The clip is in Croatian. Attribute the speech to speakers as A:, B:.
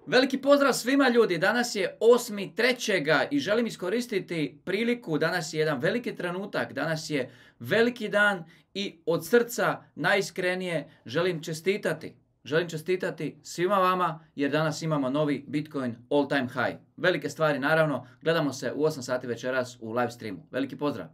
A: Veliki pozdrav svima ljudi, danas je 8.3. i želim iskoristiti priliku, danas je jedan veliki trenutak, danas je veliki dan i od srca najiskrenije želim čestitati. Želim čestitati svima vama jer danas imamo novi Bitcoin all time high. Velike stvari naravno, gledamo se u 8 sati večeras u live streamu. Veliki pozdrav!